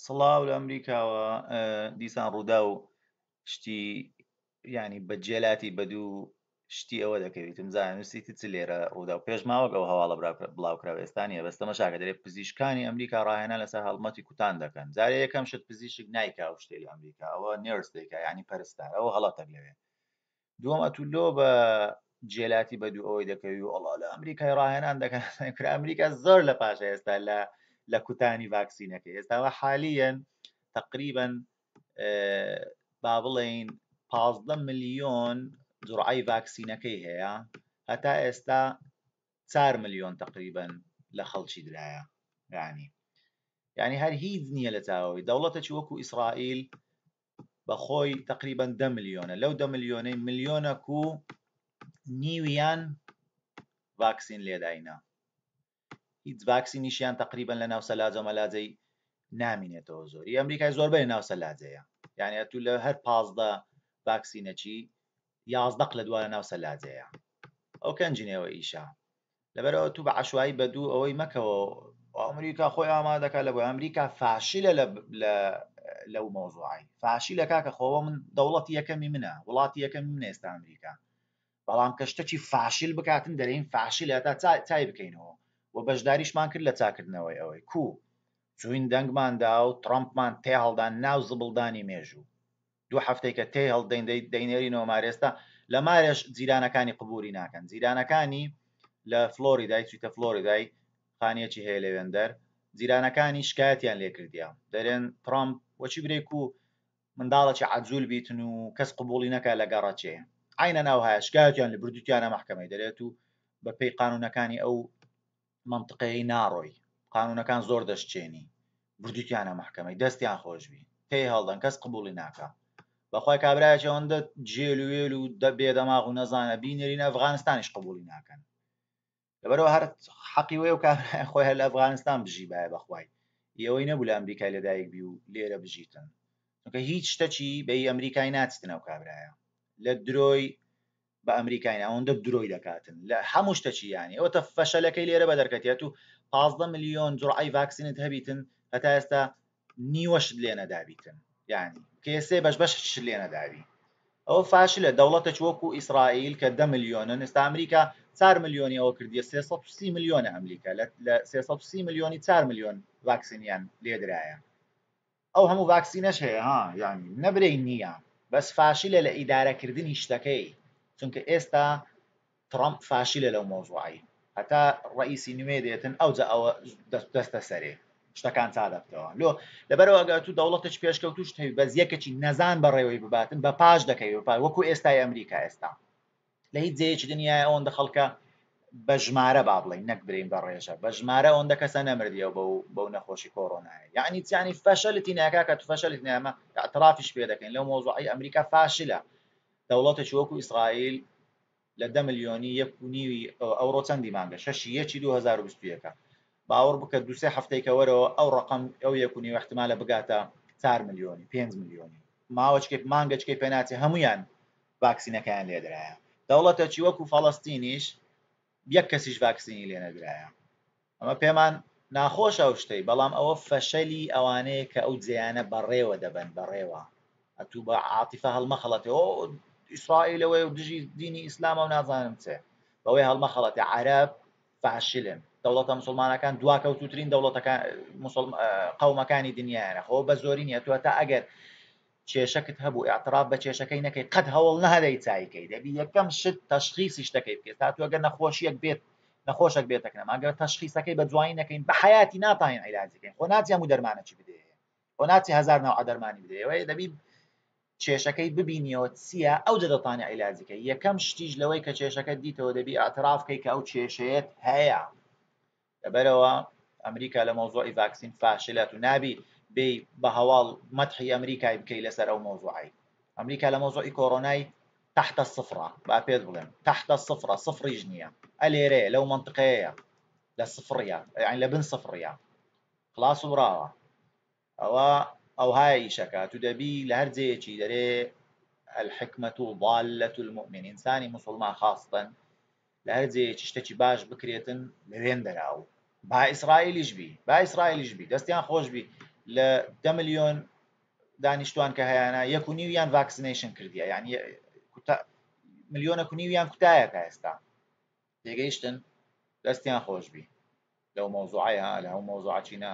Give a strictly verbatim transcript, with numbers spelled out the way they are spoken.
سڵاو لە ئەمریکاوە. دیسان ڕوودا و شتی ینی بە جێلاتی بە دوو شتی ئەوە دەکەویتم زانم نووسیتی چ لێرە ڕوودا و پێش ماوەک ئەو هەواڵە بڵاوکراوە ئێستا نییە، بەس تەمەشاکە دەرێ پزیشکانی ئەمریکا ڕاهێنان لەسەر هەڵمەتی کوتان دەکەن. جارێ یەکەم شت پزیشک نایکا ئەو شتەی لە ئەمریکا، ئەوە nurse دەیکا، یعنی پەرستار، ئەوە هەڵەتەک لەوێ. دووەم ئەتوو لۆ بە جێلاتی بە دوو ئەوەی دەکەوی و ئەڵا لە ئەمریکای ڕاهێنان دەکەن. کرا ئەمریکا زۆر لە پاشە ئێستا لە لە کوتانی ڤاکسینەکەی. ئێستاوە حالیەن تقریبا با بڵێین پازدە ملیۆن جوڕعەی ڤاکسینەکەی هەیە، هەتا ئێستا چوار ملیۆن تقریبا لە خەڵکی درایە. یعنی یعنی هەر هیچ نییە لە چاوەوەی. دەوڵەتێکی وەکو ئیسرائیل بەخۆی تقریبا دە ملیۆنە، لەو دە ملیۆنەی ملیۆنەک و نیویان ڤاکسین لێداینە، هیچ ڤاکسینیشیان تقریبا لە ناو سەلاجە مەلاجەی نامینێتەوە. زۆری ئەمریکای زۆربەی ناو سەلاجەیە، یعنی ئەتوو لە هەر پازدە ڤاکسینەکی یازدە لە دووە لە ناو سەلاجەیە. ئەو کەنجینەوە ئیشە. لەبەرەوە تو بە عەشوایی بە دوو ئەوەی مەکەوە ئەمریکا خۆی ئامادەکە لە بۆی. ئەمریکا فاشلە لە لەو مەوزوعی فاشلە کاکە. خۆوە من دەوڵەتی یەکەمی منە، وڵاتی یەکەمی منە ئێستا ئەمریکا، بەڵام کە شتەکی فاشل بکاتن دەرێین فاشلە تا چای بکەینەوە و بەشداریشمان کرد لە چاکردنەوەی ئەوەی کو چوین دەنگماندا و ترەمپمان تێ هەڵدان ناو زبڵدانی مێژوو. دوو هەفتەی کە تێ هەڵدەین دەینێرینەوە مارێستا لە مارێش جیرانەکانی قبولی ناکەن. جیرانەکانی لە فلۆریدای چویتە فلۆریدای خانیەکی هەیە لەوێندەر، جیرانەکانی شکایەتیان لێکردیا دەرێن ترەمپ وەچی برێک و منداڵێکی عەجول بیتن و کەس قبولی نەکا لە گەڕەچێ عینە ناو هەیە شکایەتیان لە بردوتیانە مەحکەمەی دەرێت و بە پێی قانونەکانی ئەو منطقەیە ناڕۆی، قانونەکان زۆر دەشتێنی، بردوتیانە مەحکەمەی دەستیان خۆشبی تێی هەڵدەن کەس قبولی ناکا. بەخوای کابرایەکی ئەوەندە جێل و وێل و بێدەماغ و نەزانە بینێرین ئەفغانستانیش قبولی ناکەن. لەبەرەوە هەر حەقی وەیە و کابرای خۆی هەر لە ئەفغانستان بژی باە بەخوای، ئەوەی نەبوو لە ئەمریکای لەدایک بی و لێرە بژیتن، چونکە هیچ شتەکی بەی ئەمریکای ناچتن ئەو کابرایە لە درۆی بە ئەمریکای ئەوەندە درۆی دەکاتن لە هەموو شتەکی. یانی ئەوە فەشەلەکەی لێرە بە دەرکەتیەت و پازدە ملیۆن جوڕعەی ڤاکسینت هەبیتن هەتا ئێستا نیوەشت لێ نەدابیتن، یعنی کێسێ بەش بەشت لێ نەدابی. ئەوە فاشلە. دەوڵەتێک وەکو ئیسرائیل کە دە ملیۆنن، ئێستا ئەمریکا چوار ملیۆنی ئەوە کردیە، سێ سەد و سی ملیۆنە ئەمریکا، لە سێ سەد و سی ملیۆنی چوار ملیۆن ڤاکسینیان لێدرایە. ئەو هەموو ڤاکسینەش هەیە ها، یعنی نەبرەی نییە، بەس فاشلە لە ئیدارەکردنی شتەکەی، چونکە ئێستا ترەمپ فاشلە لەو مەوزوعی. هەتا ڕئیسی نوێ دێتن ئەوجا ئەوە دەستە سەرێ شتەکان چا دەبتەوە. لۆ لەبەرەوە ئەگەر تو دەوڵەتێکی پێشکەوتوش هەبی بەس یەکێکی نەزان بەڕێوەی بباتن بە پاش دەکەوی، بە پاش وەکو ئێستای ئەمریکا ئێستا لە هیچ جێیەکی دنیای ئەوەندە خەڵکە بە ژمارە با بڵێین نەک برین بە ڕێژە، بە ژمارە ئەوەندە کەسە نەمردیەوە بەو بەو نەخۆشی کۆرۆنایە. یعنی چیانی فەشەلتی ناکا کە تو فەشەلتی نامە اعترافیش پێ دەکەین لەو مەوزوعی ئەمریکا فاشلە. دەوڵەتێکی وەکو ئیسرائیل لە دە ملیۆنی یەک و نیوی ئەوڕۆ چەندی مانگە شەشی یەکی دوو هەزار و بیست و یەکە، باوەڕ بکە دوو سێ هەفتەیکە وەرەوە ئەو ڕقم ئەو یەک و نیو احتمالە بگاتە چوار ملیۆنی پێنج ملیۆنی، ماوەچکەی مانگەچکەی پێناچێ هەمویان ڤاکسینەکەیان لێدرایە. دەوڵەتێکی وەکو فەڵەستینیش یەک کەسیش ڤاکسینی لێ نەدرایە. ئەمە پێمان ناخۆشە ئەو شتەی، بەڵام ئەوە فەشەلی ئەوانەیە کە ئەو جێیانە بەڕێوە دەبەن بەڕێوە. ئەتوو بە عاتیفە هەڵمەخەڵەتێ ئۆ ئیسرائیلەوەی و دژی دینی ئیسلامە و نازانم چێ، بەوەی هەڵمەخەڵەتێ. عەرەب فاشلن، دەوڵەتە مسلمانەکان دواکەوتوترین دەوڵەتەکان قەومەکانی دنیایانە. خۆ بە زۆری نییە، تو هەتا ئەگەر کێشەکت هەبوو اعتراف بە کێشەکەی نەکەی قەت هەوڵ نەهەدەی چایکەی، دەبی یەکەم شت تەشخیصی شتەکەی بکەیت. تا تو ئەگەر نەخۆشیەک بێت نەخۆشێک بێتەکنەما ئەگەر تەشخیصەکەی بە جوانی نەکەین بە حیاتی ناتانین عیلاجەکەین. خۆ ناچی هەموو دەرمانەکی بدەیە، خۆ ناچی هەزار نەوع دەرمانی بدەیە، دەبی کێشەکەی ببینیەوە چییە ئەو دەتانی عیلاجەکەی. یەکەم شتیش لەوەی کە کێشەکە دیتەوە دەبی اعتراف بکەی کە ئەو کێشەیەت هەیە. لەبەرەوە ئەمریکا لە مەوزوعی ڤاکسین فاشلەت و نابی بێ بە هەواڵ مەدحی ئەمریکای بکەی لەسەر ئەو مەوزوعی. ئەمریکا لە مەوزوعی کۆرۆنای تحت الصفرە، با پێت بڵێم تحت الصفرە، صفریش نییە، ئەلێرەیە لەو منطقەیە لە صفریە، یعنی لە بن صفریە، خلاص و براوە. ئەوە ئەوهای ئیشەکە تو دەبی لە هەر جێیەکی دەرێ الحکمة ضالة المؤمن، ئینسانی مسلمان خاصتاً لە هەر جێیەکی شتێکی باش بکرێتن لەوێن دەراو. با ئیسرائیلیش بی، با ئیسرائیلیش بی، دەستیان خۆش بی، لە دە ملیۆن دانیشتوان کە هەیانە یەک و نیویان vaccination کردیە، یعنی ملیۆنەک و نیویان کوتایە تا ئێستا. تێگەیشتن؟ دەستیان خۆش بی لەو مەوزوعەیە، لە هەو مەوزوعە چی نا.